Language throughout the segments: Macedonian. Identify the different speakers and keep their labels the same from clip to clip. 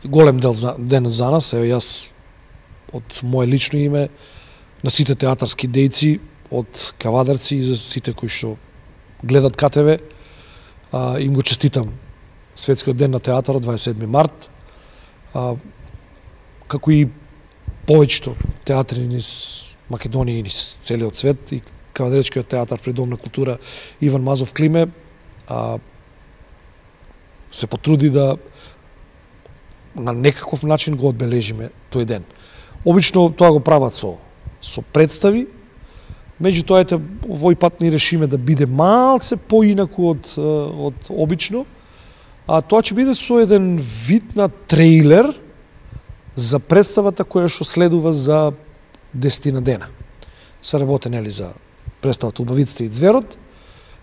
Speaker 1: Голем ден за нас, ево јас од моje лично име на сите театарски дејци, од кавадарци и за сите кои што гледат КТВ, им го честитам Светскиот ден на театарот 27 март. Како и повеќето театри низ Македонија и низ целиот свет, и Кавадаречкиот театар при Дом на култура Иван Мазов Климе се поттруди да на некаков начин го одбележиме тој ден. Обично тоа го прават со представи, меѓутоа овој пат ни решиме да биде малце поинаку од обично, а тоа ќе биде со еден вид на трейлер за представата која што следува за 10 дена. Се работи нели за представата Убавиците и ѕверот,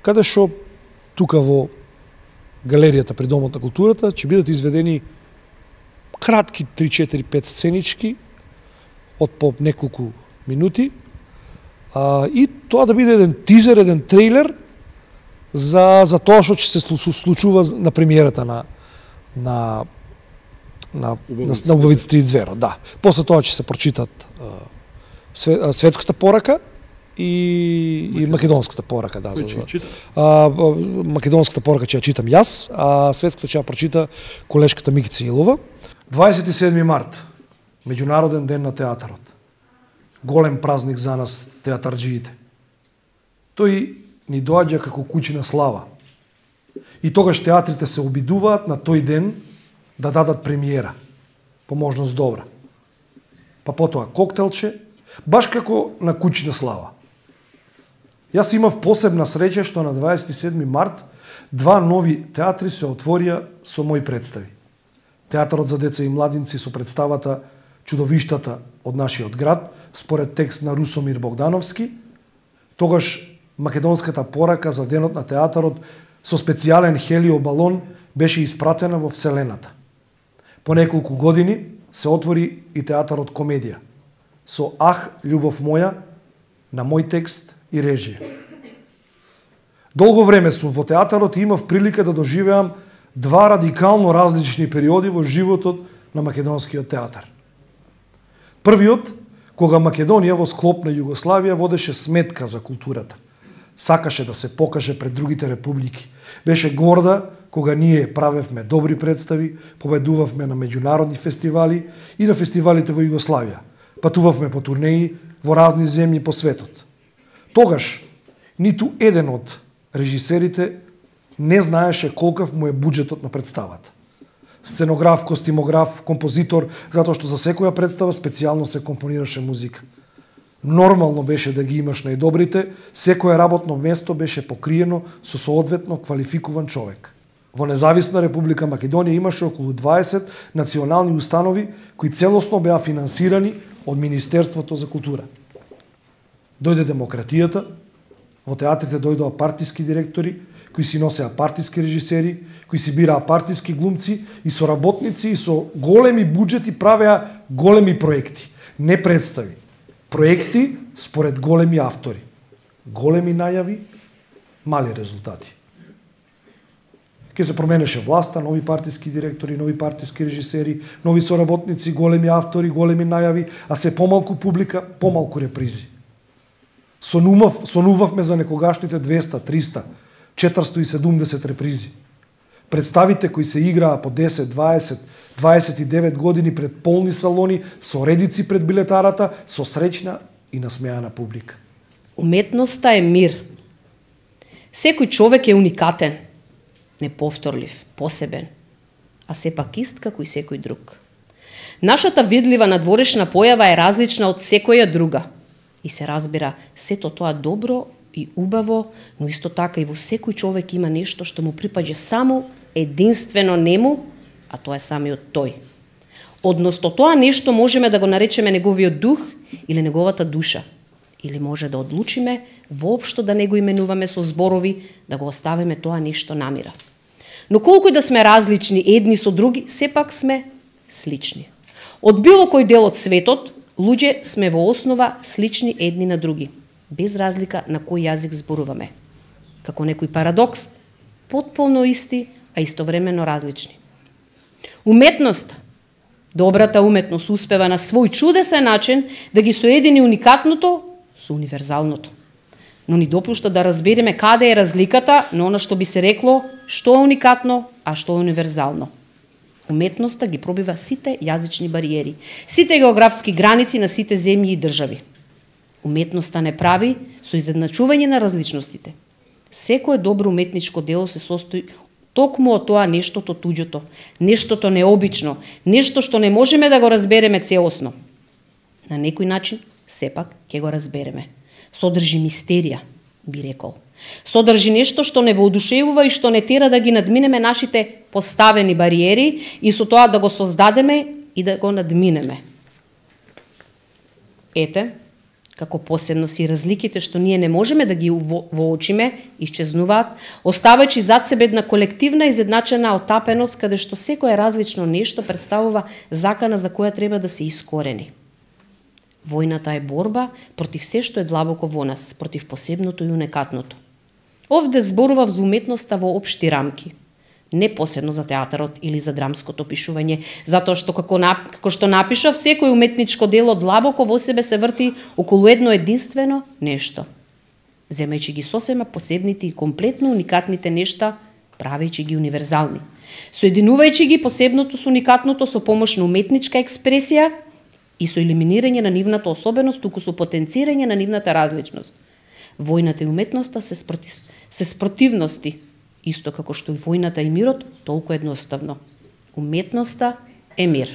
Speaker 1: каде што тука во галеријата при Домот на културата ќе бидат изведени кратки 3-4-5 сценички од по неколку минути, и тоа да биде еден тизер, еден трейлер за тоа што ќе се случува на премиерата на Убавиците и ձверот. Да. После тоа ќе се прочитат светската порака и македонската порака. Да, македонската порака ќе ја читам јас, а светската ќе ја прочита колешката Микица Илова. 27 март, Меѓународен ден на театарот. Голем празник за нас, театарџиите. Тој ни доаѓа како куќина слава. И тогаш театрите се обидуваат на тој ден да дадат премиера, по можност добра. Па потоа коктелче, баш како на куќина слава. Јас имав посебна среќа што на 27 март 2 нови театри се отворија со мои представи. Театарот за деца и младинци со представата Чудовиштата од нашиот град, според текст на Русомир Богдановски, тогаш македонската порака за денот на театарот со специјален хелиобалон беше испратена во Вселената. По неколку години се отвори и театарот Комедија, со Ах, љубов моја, на мој текст и режија. Долго време сум во театарот и имав прилика да доживеам 2 радикално различни периоди во животот на македонскиот театар. Првиот, кога Македонија во склоп на Југославија водеше сметка за културата. Сакаше да се покаже пред другите републики. Беше горда кога ние правевме добри представи, победувавме на меѓународни фестивали и на фестивалите во Југославија. Патувавме по турнеи во разни земји по светот. Тогаш ниту еден од режисерите не знаеше колкав му е буџетот на представата. Сценограф, костимограф, композитор, затоа што за секоја представа специјално се компонираше музика. Нормално беше да ги имаш најдобрите, секое работно место беше покриено со соодветно квалификуван човек. Во Независна Република Македонија имаше околу 20 национални установи кои целосно беа финансирани од Министерството за култура. Дојде демократијата, во театрите дојдоа партиски директори, кои си носеа партиски режисери, кои си бираа партиски глумци и соработници и со големи буџети правеа големи проекти, не представи. Проекти според големи автори. Големи најави, мали резултати. Ке се променеше власта, нови партиски директори, нови партиски режисери, нови соработници, големи автори, големи најави, а се помалку публика, помалку репризи. Сонувавме за некогашните 200, 300, 470 репризи. Представите кои се играа по 10, 20, 29 години пред полни салони, со редици пред билетарата, со среќна и насмеана публика.
Speaker 2: Уметноста е мир. Секој човек е уникатен, неповторлив, посебен, а сепак ист како и секој друг. Нашата видлива надворешна појава е различна од секоја друга. И се разбира, сето тоа добро и убаво, но исто така и во секој човек има нешто што му припаѓа само единствено нему, а тоа е самиот тој. Односно тоа нешто можеме да го наречеме неговиот дух или неговата душа. Или може да одлучиме воопшто да не го именуваме со зборови, да го оставиме тоа нешто намира. Но колку и да сме различни едни со други, сепак сме слични. Од било кој дел од светот, луѓе сме во основа слични едни на други, без разлика на кој јазик зборуваме. Како некој парадокс, потполно исти, а истовремено различни. Уметноста Добрата уметност успева на свој чудесен начин да ги соедини уникатното со универзалното. Но ни допушта да разбереме каде е разликата на она што би се рекло што е уникатно, а што е универзално. Уметноста ги пробива сите јазични бариери, сите географски граници на сите земји и држави. Уметноста не прави со изедначување на различностите. Секое добро уметничко дело се состои токму од тоа нештото туѓото, нештото необично, нешто што не можеме да го разбереме целосно. На некој начин, сепак, ќе го разбереме. Содржи мистерија, би рекол. Содржи нешто што не воодушевува и што не тера да ги надминеме нашите поставени бариери и со тоа да го создадеме и да го надминеме. Ете, како посебност и разликите што ние не можеме да ги воочиме, исчезнуваат, оставајќи зад себе една колективна изедначена отапеност каде што секое различно нешто представува закана за која треба да се искорени. Војната е борба против се што е длабоко во нас, против посебното и уникатното. Овде зборував за уметноста во општи рамки, не посебно за театарот или за драмското пишување, затоа што како што напишав, секој уметничко дело длабоко во себе се врти околу едно единствено нешто. Земајќи ги сосема посебните и комплетно уникатните нешта, правејќи ги универзални. Соединувајќи ги посебното со уникатното со помош на уметничка експресија и со елиминирање на нивната особеност, туку со потенцирање на нивната различност. Војната и уметноста се спротивности, исто како што и војната и мирот, толку едноставно. Уметноста е мир.